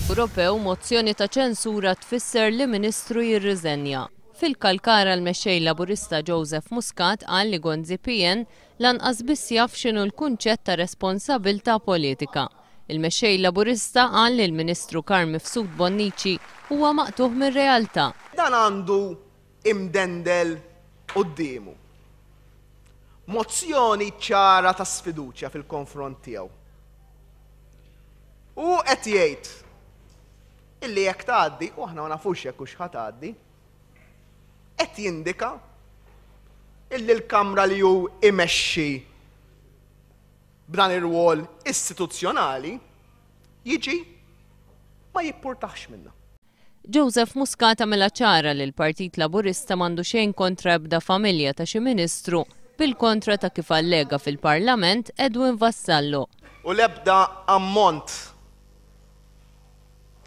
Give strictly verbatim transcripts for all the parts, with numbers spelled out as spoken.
Ewropew mozzjoni ta' ċensura tfisser li ministru jirriżenja. Fil-Kalkara l-mexxej Laburista Joseph Muscat qal li Gonzi P N lanqas biss jaf x'inhu l-kunċett ta' responsabilità politika. Il-mexxej Laburista qal li l-Ministru Carm Mifsud Bonnici huwa maqtugħ mir-realtà. Dan għandu imdendel quddiemu mozzjoni ċara ta' sfiduċja fil-konfront tiegħu. U qed jgħid illi jekk tgħaddi, u aħna ma nafux jekk hux ħa tgħaddi, qed jindika illi l-Kamra li hu imexxi b'dan ir-rwol istituzzjonali jiġi ma jippurtax minna. Joseph Muscat għamilha ċara li l-Partit Laburista m'għandu xejn kontra ebda familja ta' xi ministru, bil-kontra ta' kif allega fil-Parlament Edwin Vassallo. U l-ebda ammont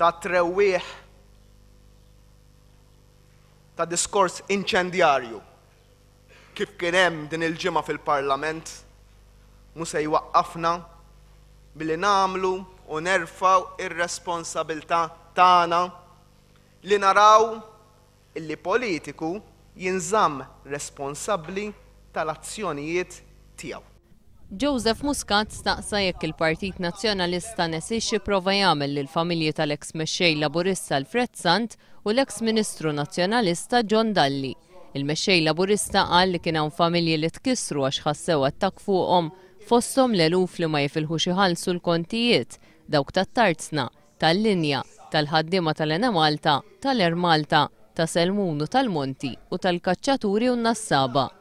ta' trewwieħ ta' diskors inċendjarju kif kien hemm din il-ġimgħa fil-Parlament mhu se jwaqqafna billi nagħmlu u nerfgħu ir-responsabilità tagħna li naraw illi politiku jinżamm responsabbli tal-azzjonijiet tiegħu. Joseph Muscat staqsa jekk il-Partit Nazzjonalista nesix prova jagħmel lil familji tal-eks mexxej Laburista Alfred Sant u l-eks Ministru Nazzjonalista John Dalli. Il-mexxej Laburista qal li kien hawn familji li tkissru għax ħassew attakk fuqhom, fosthom l-eluf li ma jifilħux iħallsu l-kontijiet, dawk tat-tarzna, tal-linja, tal-ħaddiema tal-Enemalta, tal-Air Malta, ta' Selmun u tal-Monti u tal-kaċċaturi u n-nassaba.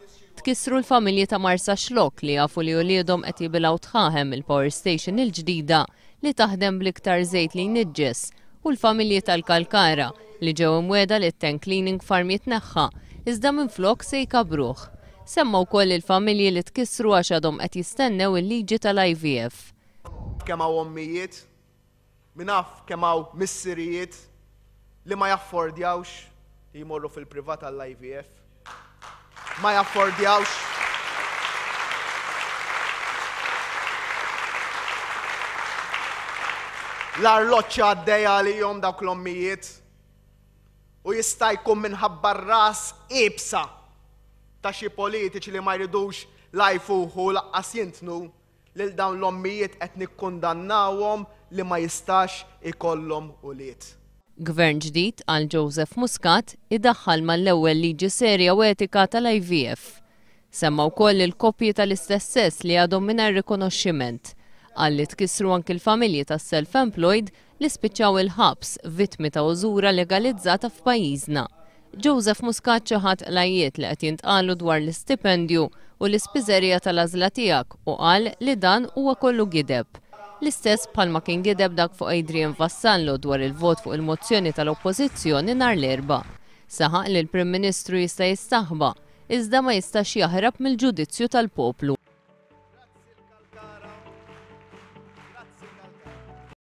Tkissru l-familji ta' Marsaxlokk li jafu li uliedhom qed jibilgħu dħaħen il-power station il-ġdida li taħdem bl-iktar żejt li jniġġes u l-familji tal-Kalkara li ġew imwiegħda li t-tank cleaning farm jitneħħa iżda minflok se jkabruh. Semma wkoll il-familji li tkissru għax għadhom qed jistennew il-liġi tal-I V F. Kemm hawn ommijiet, min jaf kemm hawn missirijiet li ma jaffordjawx li jmorru fil-privat għall-I V F. Ma jaffordjawx. L-arloġġ għaddejja għalihom dawk l-ommijiet u jista' jkun minħabba ras iebsa ta' xi politiċi li ma jridux la jfuħu lanqas jintnu lil dawn l-ommijiet qed nikkundannawhom li ma jistax ikollhom ulied. Gvern ġdid, għal Joseph Muscat, idaħħal mal-ewwel liġi serja u etika tal-I V F. Semma wkoll il-koppji tal-istess sess li għadhom mingħajr rikonoxximent. Qal li tkissru anki l-familji tas-self-employed li spiċċaw il-ħabs, vittmi ta' użura legalizzata f'pajjiżna. Joseph Muscat ċaħad l-għajjiet li qed jintqalu dwar l-istipendju u l-ispiżerija tal-għażla tiegħek u qal li dan huwa kollu gideb. L-istess bħalma kien gideb dak fuq Adrian Vassallo dwar il-vot fuq il-mozzjoni tal-Oppożizzjoni nhar l-Erbgħa. Saħaq li l-Prim Ministru jista' jistaħba, iżda ma jistax jaħrab mill-ġudizzju tal-poplu.